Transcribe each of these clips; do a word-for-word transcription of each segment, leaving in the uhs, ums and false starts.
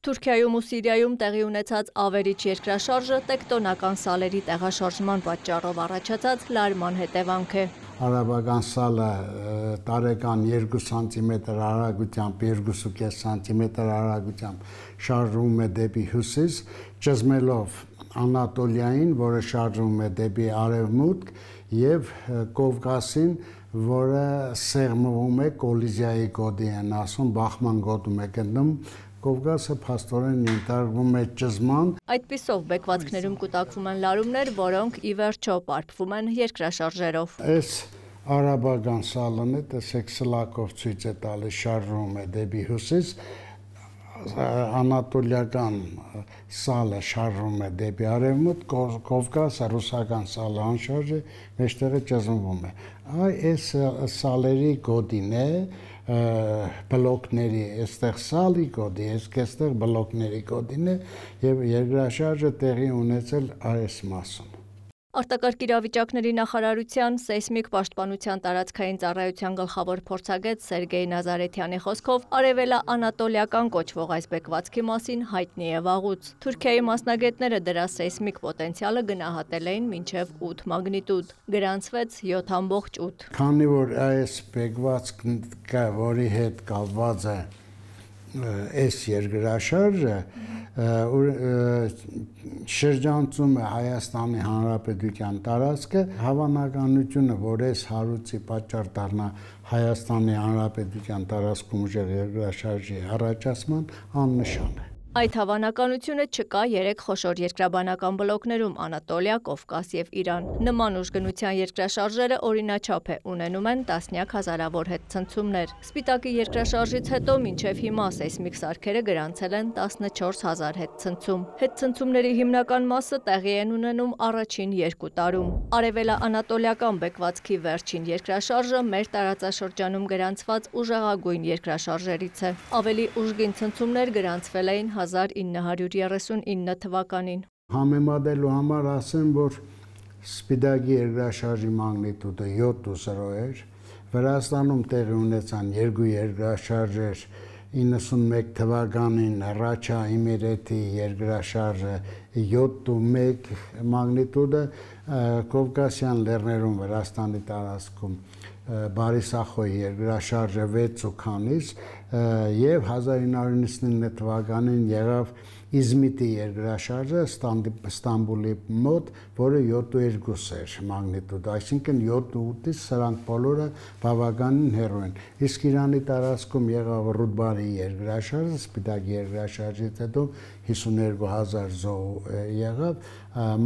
Թուրքիայում ու Սիրիայում տեղի ունեցած ավերիչ երկրաշարժը տեկտոնական սալերի տեղաշարժման պատճառով առաջացած լարման հետևանք է։ Արաբական սալը տարեկան երկու սանտիմետր արագությամբ, երկու կես սանտիմետր արագությամբ շարժվում է դեպի հյուսիս, ճզմելով Անատոլիային, որը շարժվում է դեպի արևմուտք, եւ Կովկասին, որը սեղմվում է կոլիզիայի գոտի են ասում, բախման գոտում է գտնվում, Կովկասը փաստորեն ենթարկվում է ճզման։ Այդպիսով բեկվածքներում կուտակվում են լարումներ, որոնք ի վերջո պարփվում են երկրաշարժերով։ Այս արաբական սալն է, տեսեք սլակով ցույց է տալիս, շարժվում է դեպի հյուսիս, անատոլիական սալը շարժվում է դեպի արևմուտք, Կովկասը ռուսական սալը անշարժ է, մեջտեղը ճզմվում է։ Այս սալերի գոտին է բլոկների, այստեղ սալի գոտի, այստեղ բլոկների գոտին է եւ երկրաշարժը տեղի ունեցել այս մասում։ Արտակարգ իրավիճակների նախարարության սեյսմիկ պաշտպանության տարածքային ծառայության գլխավոր փորձագետ Սերգեյ Նազարեթյանի խոսքով արևելա-անատոլիական կոչվող այս բեկվածքի մասին հայտնի է վաղուց։ Թուրքիայի մասնագետները դրա սեյսմիկ պոտենցիալը գնահատել էին մինչև ութ մագնիտուդ, գրանցվեց յոթ ամբողջ ութ։ Քանի որ այս բեկվածքը, որի հետ կապված է այս երկրաշարժը, շրջանցում է Հայաստանի Հանրապետության տարածքը, հավանականությունը, որ այս հարուցի պատճառ դառնա Հայաստանի Հանրապետության տարածքում ուժեղ երկրաշարժի առաջացման, աննշան է։ Այդ հավանականությունը չկա երեք խոշոր երկրաբանական բլոկներում՝ Անատոլիա, Կովկաս եւ Իրան։ Նման ուժգնության երկրաշարժերը օրինաչափ է, ունենում են տասնյակ հազարավոր հետցնցումներ։ Սպիտակի երկրաշարժից հետո մինչև հիմա սեյսմիկ սարքերը գրանցել են տասնչորս հազար հետցնցում։ Հետցնցումների հիմնական մասը տեղի են ունենում առաջին երկու տարում։ Արևելա-անատոլիական բեկվածքի վերջին երկրաշարժը մեր տարածաշրջանում գրանցված ուժեղագույն երկրաշարժերից է։ Ավելի ուժգին ցնցումներ գրանցվել էին հազար ինը հարյուր երեսունինը թվականին։ Համեմատելու համար ասեմ, որ Սպիտակի երկրաշարժի մագնիտուդը յոթ ու զրո էր, Վրաստանում տեղի ունեցան երկու երկրաշարժեր, իննսունմեկ թվականին Ռաչա Իմիրեթի երկրաշարժը յոթ ու մեկ մագնիտուդը, Կովկասյան լեռներում Վրաստանի տարածքում Բարիսախոյի երկրաշարժը վեց ու քանից եւ հազար ինը հարյուր նվաթ թվականին եղավ Իզմիտի երկրաշարժը Ստամբուլի մոտ, որը յոթ ու երկու էր մագնիտուդ, այսինքն յոթ ու ութից սրանք բոլորը բավականին հեռու են։ Իսկ Իրանի տարածքում եղավ Ռուդբարի երկրաշարժը, Սպիտակի երկրաշարժից հետո հիսունհինգ հազար զոհ եղավ,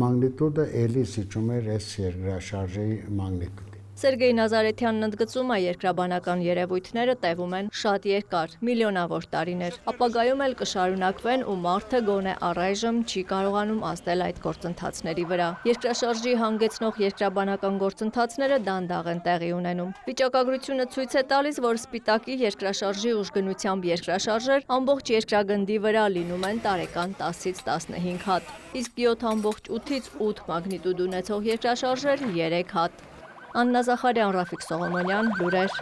մագնիտուդը էլի զիջում էր այս երկրաշարժի մագնիտուդ։ Սերգեյ Նազարեթյանն ընդգծում է, երկրաբանական երևույթները տևում են շատ երկար, միլիոնավոր տարիներ, ապագայում էլ կշարունակվեն ու մարդը գոնե առայժմ չի կարողանում ազդել այդ գործընթացների վրա։ Երկրաշարժի հանգեցնող երկրաբանական գործընթացները դանդաղ են տեղի ունենում։ Վիճակագրությունը ցույց է տալիս, որ Սպիտակի երկրաշարժի ուժգնությամբ երկրաշարժեր ամբողջ երկրագնդի վրա լինում են տարեկան տասից տասնհինգ հատ, իսկ յոթ ամբողջ ութից ութ մագնիտուդ ունեցող երկրաշարժեր երեք հատ։ Աննա Զախարյան, Ռաֆիկ Սողոմոնյան, լուրեր։